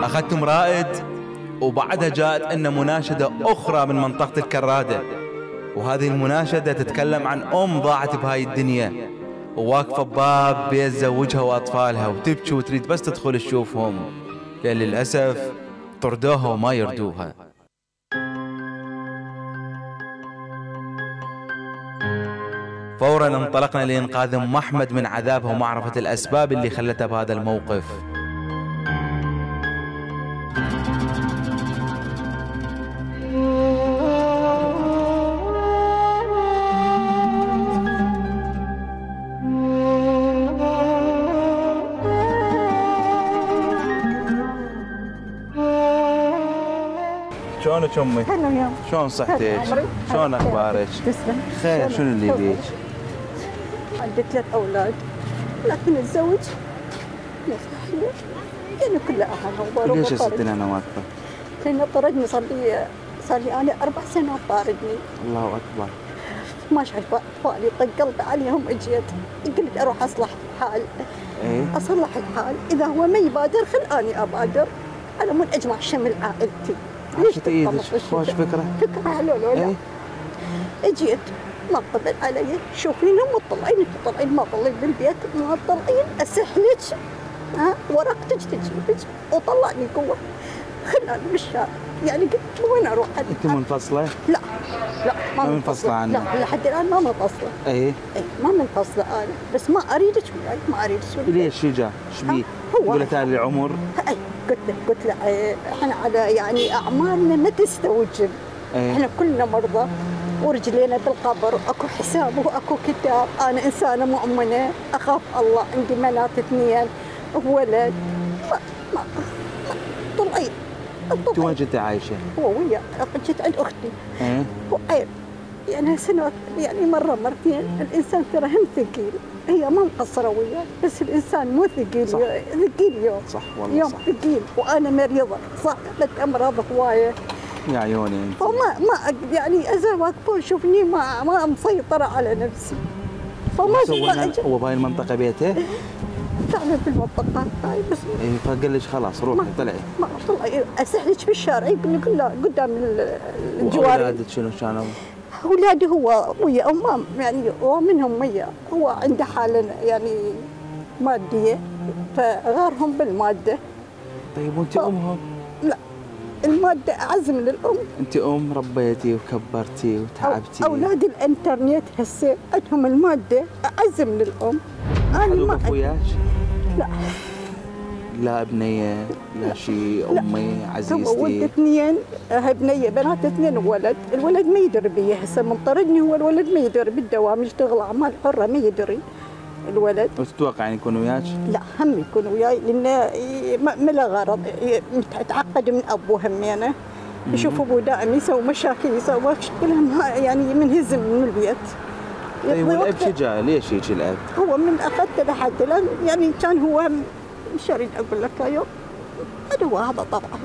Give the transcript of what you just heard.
أخذتم رائد، وبعدها جاءت عنا مناشدة أخرى من منطقة الكرادة، وهذه المناشدة تتكلم عن ضاعت بهاي الدنيا وواقفة بباب بيت زوجها وأطفالها وتبكي وتريد بس تدخل تشوفهم، لأن للأسف طردوها وما يردوها. فورا انطلقنا لإنقاذ أم أحمد من عذابها ومعرفة الأسباب اللي خلتها بهذا الموقف. شلونك امي؟ هلا يا شلون صحتك؟ شلون اخبارك؟ تسلم. خير، شنو اللي بيك؟ عندي 3 اولاد، لكن الزوج مستحيل، يعني كله اهلها. ليش يا ستي انا واقفه؟ لانه طردني، صار لي انا 4 سنوات طاردني. الله اكبر. ما شايف اطفالي، طق قلبي عليهم، اجيت قلت اروح اصلح الحال. ايه؟ اصلح الحال، اذا هو ما يبادر خل اني ابادر، على مود اجمع شمل عائلتي. عشت ايدك، خوش فكره. فكره حلوه لو لا؟ ايه؟ اجيت ما قبل علي، شوفيني مو طلعين، انتوا طلعين ما طلعين بالبيت، ما طلعين اسحلك ورقتك تجيبك وطلعني قوه، خلاني بالشارع، يعني قلت وين اروح؟ انت منفصله؟ لا ما منفصله عنه؟ لا لحد الان ما منفصله. ايه؟ اي ما منفصله انا، بس ما اريدك وياي، ما اريدك وياي. ليش؟ شو جا؟ ايش بيه؟ قلت لها العمر؟ اي قلت له احنا على يعني اعمارنا ما تستوجب. ايه؟ احنا كلنا مرضى ورجلينا بالقبر، اكو حساب واكو كتاب، انا انسانه مؤمنه اخاف الله، عندي بنات 2 وولد، ما طلعي. انت وين كنت عايشه؟ هو ويا جيت عند اختي. ايه؟ وعيب يعني سنوات، يعني مره مرتين، الانسان ترى هم ثقيل، هي ما مقصره وياه، بس الانسان مو ثقيل. صح. ثقيل يوم، صح والله يوم صح. ثقيل، وانا مريضه صاحبه امراض هوايه، يا عيوني انت. فما يعني ازا واقفه وشوفني ما مسيطره على نفسي، فما سوينا. هو بهاي المنطقه بيته؟ فعلا في المنطقه هاي، بس ايه، فقال لك خلاص روحي طلعي. ما طلعي، اسحلك بالشارع، يقول لك لا قدام الجواري. واولادك شنو كانوا؟ اولادي هو ويا امام، يعني هو منهم ويا، هو عنده حاله يعني ماديه، فغارهم بالماده. طيب وانت امهم؟ لا، الماده اعز من الام. انت ربيتي وكبرتي وتعبتي. اولاد الانترنت هسه عندهم الماده اعز من الام. انا ما اخوياك؟ لا لا بنيه، لا شيء، امي عزيزتي. هو ولد 2 بنيه، بنات 2 وولد، الولد ما يدري بي هسه منطردني، هو الولد ما يدري بالدوام، يشتغل اعمال حره، ما يدري الولد. وتتوقع يكون وياك؟ لا، هم يكون وياي، لانه ما له غرض، متعقد من ابوه همينه، يشوف ابوه دائما يسوي مشاكل، يسوي كلها يعني منهزم من البيت. طيب والاب شو جاي؟ ليش هيك الاب؟ هو من اخذته لحد الان، يعني كان هو مش اريد اقول لك يوم، هذا هو، هذا طبعه.